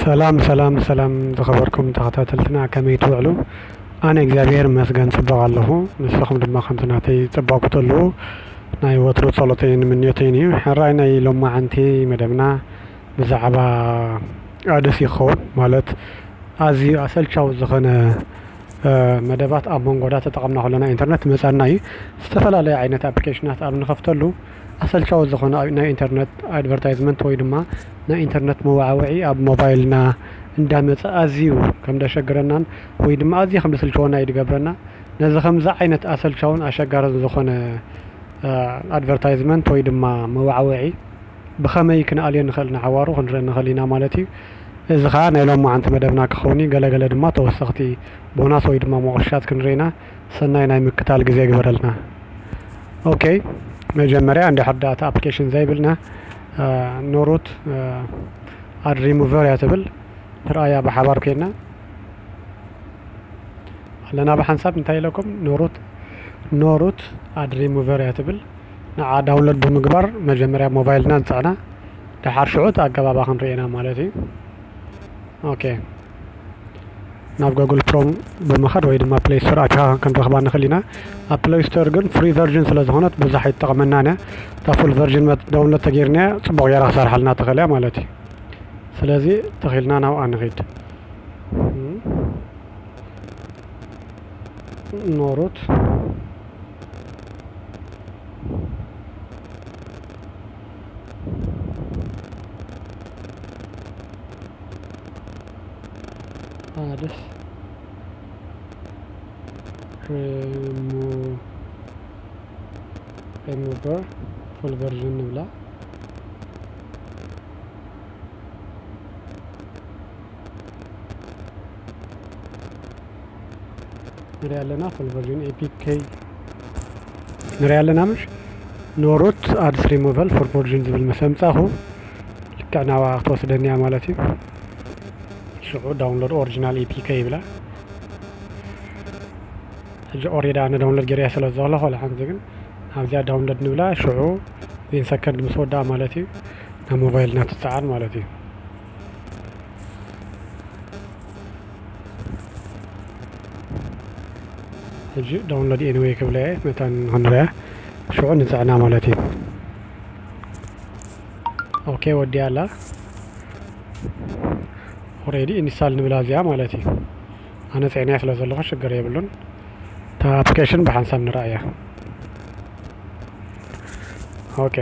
ሰላም ሰላም ሰላም፣ ዝኸበርኩም ተኸታተልትና ከመይ ትውዕሉ? ኣነ እግዚኣብሔር ይመስገን ጽቡቕ ኣለኹ። ንስኹም ድማ ከምቲ ናተይ ጽቡቕ ክትህልዉ ናይ ወትሩ ጸሎተይን ምንዮተይን እዩ። ሕራይ ናይ ሎማዓንቲ መደብና ብዛዕባ ኣድስ ይኸውን፣ ማለት ኣዝዩ ኣሰልቻዊ ዝኾነ መደባት ኣብ መንጎ ዳተጠቐምና ከለና ኢንተርነት መጻና እዩ። ዝተፈላለየ ዓይነት ኣፕሊኬሽናት ኣብ ንኸፍተሉ ኣሰልቻዊ ዝኾነ ናይ ኢንተርነት ኣድቨርታይዝመንት ወይ ድማ ናይ ኢንተርነት መዋዕውዒ ኣብ ሞባይልና እንዳመጸ ኣዝዩ ከም ደሸግረናን ወይ ድማ ኣዝዩ ከም ደስልችወና እዩ ድገብረና። ነዚ ከምዚ ዓይነት ኣሰልቻውን ኣሸጋርን ዝኾነ ኣድቨርታይዝመንት ወይ ድማ መዋዕውዒ ብኸመይ ክንኣልዮ ንኽእል ንሓዋሩ ክንርኢ ንኽእል ኢና ማለት እዩ። እዚ ኸዓ ናይ ሎማዓንቲ መደብና ክኸውን እዩ። ገለገለ ድማ ተወሰኽቲ ቦናስ ወይ ድማ መቑሻት ክንርኢና። ሰናይ ናይ ምክታል ግዜ ግበረልና። ኦኬ፣ መጀመርያ እንድሕር ዳታ ኣፕሊኬሽን ዘይብልና ኖሩት ኣድ ሪሙቨር እያ ትብል። ንርኣያ ብሓባር ኮይና ኣለና ብሓንሳብ። እንታይ ኢለኩም? ኖሩት ኖሩት ኣድ ሪሙቨር እያ ትብል። ንዓ ዳውንሎድ ብምግባር መጀመርያ ሞባይልና ንፅዕና፣ ደሓር ሽዑ እቲ ኣገባባ ክንርኤና ማለት እዩ። ኦኬ፣ ናብ ጎግል ክሮም ብምኻድ ወይ ድማ ፕሌይ ስቶር ኣቲኻ ክንረኽባ ንኽእል ኢና። ኣብ ፕሌይ ስቶር ግን ፍሪ ቨርዥን ስለ ዝኾነት ብዙሕ ኣይትጠቕመናን እያ። እታ ፉል ቨርዥን ዳውንሎድ ተገይርና እያ፣ ጽቡቕ ገይራ ክሰርሓልና ትኽእል እያ ማለት እዩ። ስለዚ ተኺልና ናብኣ ንኺድ። ኖሩት ኣድስ ሪሙቨር ፉል ቨርዥን ንብላ። ንሪኣ ኣለና ፉል ቨርዥን ኤፒኬ ንሪኣ ኣለና። ምሽ ኖሩት ኣድስ ሪሙቨል ፉል ቨርዥን ዝብል ምስ ኣምጻኹ ልክዕ ናብኣ ክትወስደኒ እያ ማለት እዩ። ሽዑ ዳውንሎድ ኦሪጂናል ኤፒኬ ይብላ። ሕጂ ኦሬዲ ኣነ ዳውንሎድ ገይረያ ስለ ዘለኹ፣ ዋላ ሓንቲ ግን ኣብዚኣ ዳውንሎድ ንብላ። ሽዑ ዜን ሰከንድ ምስ ወድኣ ማለት እዩ ናብ ሞባይልና ትጸዓን ማለት እዩ። ሕጂ ዳውንሎድ ኤኒወይ ክብለ እየ፣ መታን ንኽንሪኣ ሽዑ ንጽዕና ማለት እዩ። ኦኬ፣ ወዲያ ኣላ። ኦሬዲ ኢንስታል ንብላ እዚኣ ማለት እዩ። ኣነ ጽዕንያ ስለ ዘለኹ ሽግር የብሉን። እታ ኣፕሊኬሽን ብሓንሳብ ንረኣያ። ኦኬ።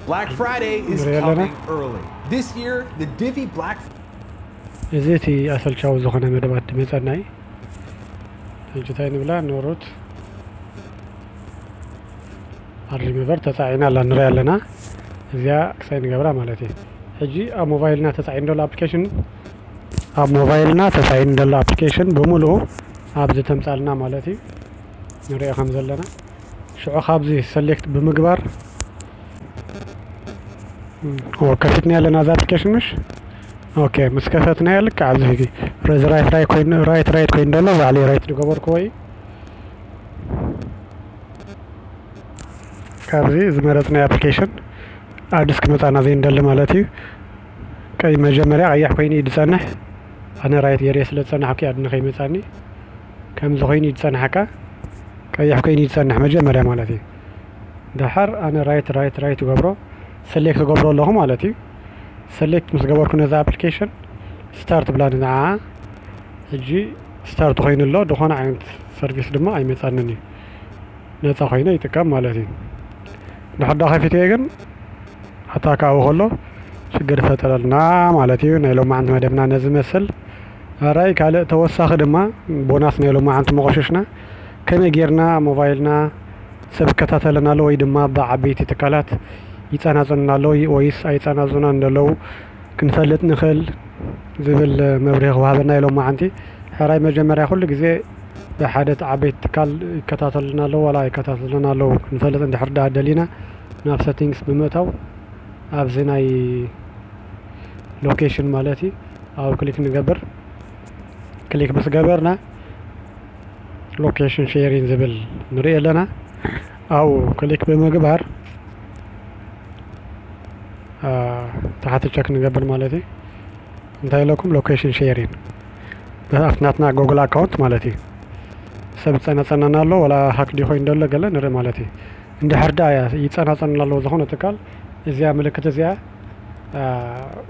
Black Friday is ንሪኦ ኣለና። Coming early. This year, the Divvy Black እዚ እቲ ኣሰልቻዊ ዝኾነ መደባት ድመጸና እዩ። ሕጂ እንታይ ንብላ? ኖሩት ኣድ ሪሙቨር ተጻዒና ኣላ፣ ንሪኣ ኣለና። እዚኣ ክሳይ ንገብራ ማለት እዩ። ሕጂ ኣብ ሞባይልና ተጻዒኑ ዘሎ ኣፕሊኬሽን፣ ኣብ ሞባይልና ተጻዒኑ ዘሎ ኣፕሊኬሽን ብምሉኡ ኣብዚ ተምጻልና ማለት እዩ። ንሪኦ ከም ዘለና ሽዑ ካብዚ ሰሌክት ብምግባር ኦ፣ ከፊትና ኣለና እዛ ኣፕሊኬሽን ምሽ? ኦኬ፣ ምስ ከፈትና ልክዕ ኣብዚ ሕጂ ረዚ ራይት ራይት ኮይኑ፣ ራይት ራይት ኮይኑ ዘሎ ባዕለይ ራይት ዝገበርኩዎ እዩ። ካብዚ ዝመረጽናዮ ኣፕሊኬሽን ኣድስ ክመጻና ዘይንደሊ ማለት እዩ። ቀይ መጀመርያ ቀያሕ ኮይኑ እዩ ዝጸንሕ። ኣነ ራይት ገይረ ስለ ዝጸናሕኩ ኣድ ንኸይመጻኒ ከምዚ ኮይኑ እዩ ዝጸንሓካ። ቀያሕ ኮይኑ እዩ ዝጸንሕ መጀመርያ ማለት እዩ። ደሓር ኣነ ራይት ራይት ራይት ገብሮ፣ ሰሌክት ገብሮ ኣለኹ ማለት እዩ። ሰሌክት ምስ ገበርኩ ነዛ ኣፕሊኬሽን ስታርት ብላ ንዓ። ሕጂ ስታርት ኮይኑ ኣሎ፣ ዝኾነ ዓይነት ሰርቪስ ድማ ኣይመጻንን እዩ። ነጻ ኮይነ ይጥቀም ማለት እዩ። ድሕር ዶ ከፊተዮ ግን ኣታካ ኣብኡ ከሎ ሽግር ይፈጥረልና ማለት እዩ። ናይ ሎማዓንቲ መደብና ነዚ መስል። ኣራይ ካልእ ተወሳኺ ድማ ቦናስ ናይ ሎማዓንቲ መቆሸሽና ከመይ ጌርና ሞባይልና ሰብ ይከታተለና ኣሎ ወይ ድማ ብዓበይቲ ትካላት ይጸናጽኑና ኣሎ ወይስ ኣይጸናጽኑና እንደለዉ ክንፈልጥ ንኽእል ዝብል መብርሂ ክወሃበና እዩ ሎማዓንቲ። ሕራይ መጀመርያ ኩሉ ግዜ ብሓደ ዓበይቲ ትካል ይከታተሉና ኣለዉ ዋላ ኣይከታተሉና ኣለዉ ክንፈልጥ እንድሕር ደኣ ደሊና ናብ ሰቲንግስ ብምእታው ኣብዚ ናይ ሎኬሽን ማለት እዩ ኣብኡ ክሊክ ንገብር። ክሊክ ምስ ገበርና ሎኬሽን ሼሪንግ ዝብል ንርኢ ኣለና። ኣብኡ ክሊክ ብምግባር ተሓቲ ቸክ ንገብር ማለት እዩ። እንታይ ኢለኩም? ሎኬሽን ሼሪን ብኣፍናትና ጎግል ኣካውንት ማለት እዩ። ሰብ ጸናጸናና ኣሎ ወላ ሃክ ዲኾይን ደሎ ገለ ንርኢ ማለት እዩ። እንድሕር ዳ ይጸናጸኑና ኣለዎ ዝኾነ ትካል እዚኣ ምልክት እዚኣ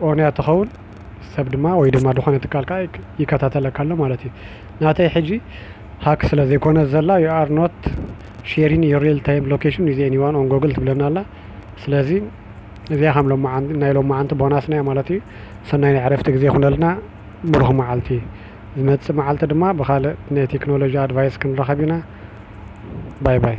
ኦንያ ትኸውን ሰብ ድማ ወይ ድማ ዝኾነ ትካል ከዓ ይከታተለካ ኣሎ ማለት እዩ። ናተይ ሕጂ ሃክ ስለ ዘይኮነ ዘላ you are not sharing your real time location with anyone on Google ትብለና ኣላ። ስለዚ እዚኣ ከም ናይ ሎመዓንቲ ቦናስና ማለት እዩ። ሰናይ ናይ ዕረፍቲ ግዜ ይኹነልና። ብሩኽ መዓልቲ። ዝመፅእ መዓልቲ ድማ ብካልእ ናይ ቴክኖሎጂ ኣድቫይስ ክንራኸብ ኢና። ባይ ባይ።